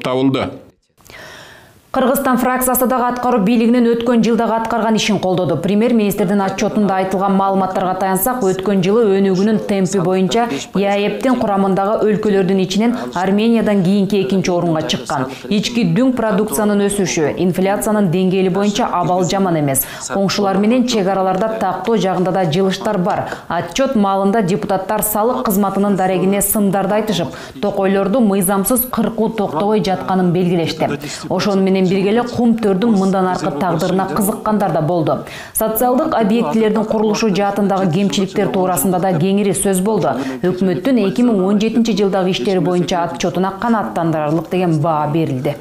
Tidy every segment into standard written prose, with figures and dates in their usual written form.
табылды. Кыргызстан фракциясы дагы аткаруу бийлигинин өткөн жылдагы аткарган ишин колдоду. Премьер-министрдин отчетунда айтылган маалыматтарга таянсак, өткөн жылы өнүгүүнүн темпи боюнча ЕАЭПтин курамындагы өлкөлөрдүн ичинен Армениядан кийинки экинчи орунга чыккан. Ички дүң продукциянын өсүшү, инфляциянын деңгээли боюнча абал жаман эмес. Коңшулар менен чек араларда тактоо жагында да жылыштар бар. Отчет маалында депутаттар салык кызматынын дарегине сымдарды айтышып, токойлорду мыйзамсыз кыркуу токтобой жатканын белгилешти. Ошону менен биргеле кум төрдүн мындан аркы тагдырына кызыккандар да болду. Социалдык объектилердин курулушу жаатындагы кемчиликтер туурасында да кеңири сөз болду. Өкмөттүн 2017 жылдагы иштери боюнча отчетуна канааттандырарлык деген баа берилди.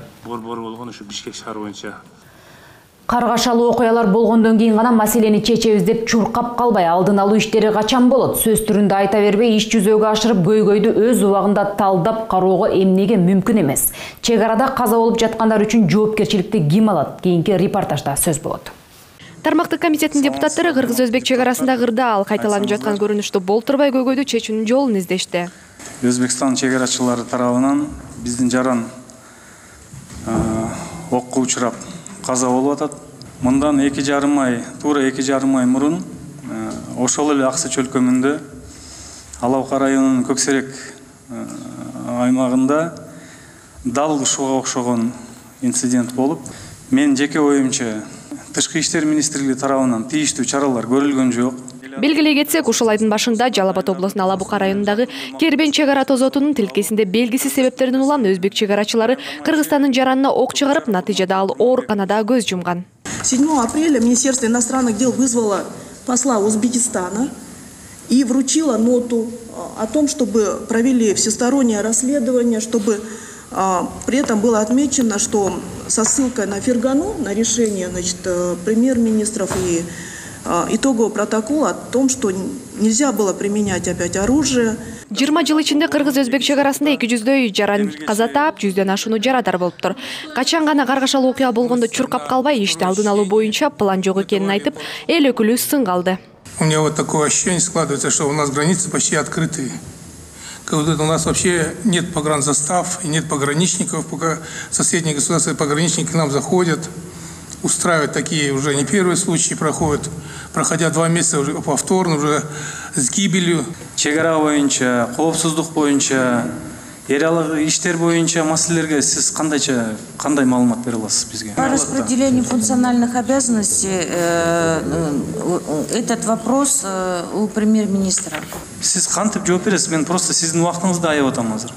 Каргашалуу окуялар болгондон кийин гана маселени чечебиз деп чуркап калбай, алдын алуу иштери качан болот? Сөз түрүндө айта бербей, иш жүзөгө ашырып, көйгөйдү өз убагында талдап кароого эмнеге мүмкүн эмес? Чек арада каза болуп жаткандар үчүн жоопкерчиликти ким алат? Кийинки репортажда сөз болот. Тармактык комитеттин депутаттары кыргыз-өзбек чек арасында кырдаал кайталанып жаткан көрүнүштү болтурбай көйгөйдү чечүүнүн жолун издешти. Өзбекстан чек арачылары тарабынан биздин жаран окко учурап каза болуп атат. Мындан 2,5 ай, туура 2,5 ай мурун ошол эле Аксы чөлкөмүндө Алабка районунун Көксерек аймагында дал ушуга окшогон инцидент болуп, мен жеке оюмча Тышкы иштер министрлиги тарабынан тийиштүү чаралар көрүлгөн жок. Белгилей кетсек, ушул айдын башында Жалал Абад облусунун Алабука районундагы Кербен чек ара тозотунун тилкесинде белгисиз себептерден улам өзбек чек арачылары Кыргызстандын жаранына ок чыгарып, натыйжада ал ооруканада көз жумган. 7 апреля Министерство иностранных дел вызвало посла Узбекистана и вручило ноту о том, чтобы провели всестороннее расследование, чтобы при этом было отмечено, что со ссылкой на Фергану, на решение, значит, премьер-министров и итоговый протокол о том, что нельзя было применять опять оружие. 20 жыл ичинде кыргыз-өзбек чек арасында 200дөй жаран каза таап, 100дөн ашууну жарадар болуптур. Качан гана каргашалуу окуя болгондо чуркап калбай, ишти алдын алуу боюнча план жок экенин айтып, эл өкүлү сын калды. У меня вот такое ощущение складывается, что у нас границы почти открытые. Как будто у нас вообще нет погранзастав и нет пограничников, пока соседние государства и пограничники к нам заходят. Устраивать такие уже не первые случаи проходят, проходя 2 месяца уже повторно, уже с гибелью. Чек ара боюнча, коопсуздук боюнча, эралык иштер боюнча маселелерге сиз кандай маалымат бере аласыз бизге? По распределению функциональных обязанностей этот вопрос у премьер-министра. Сиз кантип жооп бересиз? Мен просто сиздин убактыңызды аяп атам азыр.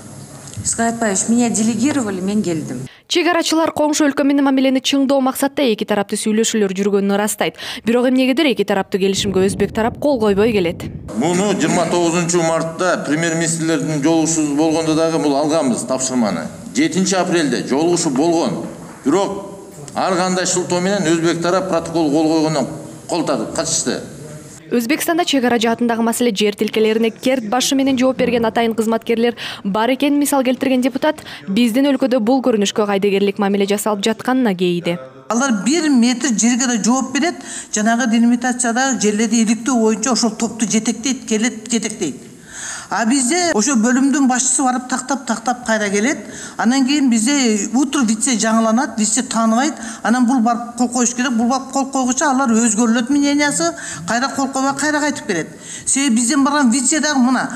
Искай Павлович, меня делегировали, мен келдим. Чек арачылар коңшу өлкө менен мамилени чыңдоо максатта эки тарапты сүйлөшүүлөр жүргөнүн ырастайт. Бирок эмнегедир эки тараптуу келишимге өзбек тарап кол койбой келет. Муну 29 мартта премьер-министрлердин жолугушуу болгондо дагы бул алганбыз тапшырманы. 7 апрелде жолугушуу болгон. Бирок ар кандай шылтоо менен өзбек тарап протокол кол койгондон качышты. Өзбекстанда чек ара жаатындагы маселе жер тилкелерине керт башы менен жооп берген атайын кызматкерлер бар экенин мисал келтирген депутат биздин өлкөдө бул көрүнүшкө кайдыгерлик мамиле жасалып жатканына кейиди. Алар 1 метр жерге да жооп берет, жанагы делимитацияда жерлерди иликтөө боюнча ошол топту жетектейт, келет, жетектейт. А бизде ошо бөлүмдүн башчысы барып тактап кайра келет. Анан кийин бизде утро вице жаңыланат, вице тааныбайт. Анан бул барып кол коюш керек, бул барып кол койгуча алар өзгөрүлөт мнениясы, кайра кол койбой кайра кайтып берет. Себеби бизден барган вице дагы мына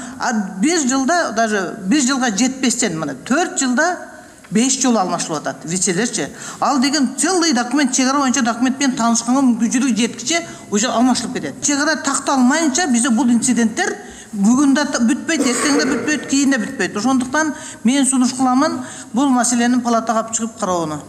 1 жылда даже 1 жылга жетпестен мына 4 жылда 5 жолу алмашылып атат вицелерчи. Ал деген целый документ, чек ара боюнча документ менен таанышканга мүмкүнчүлүк жеткиче уже алмашылып кетет. Чек ара такталмайынча бизде бул инциденттер бүгүн да бүтпөйт, эртең да бүтпөйт, кийин да бүтпөйт. Ошондуктан мен сунуш кыламын бул маселени палатага алып чыгып кароону.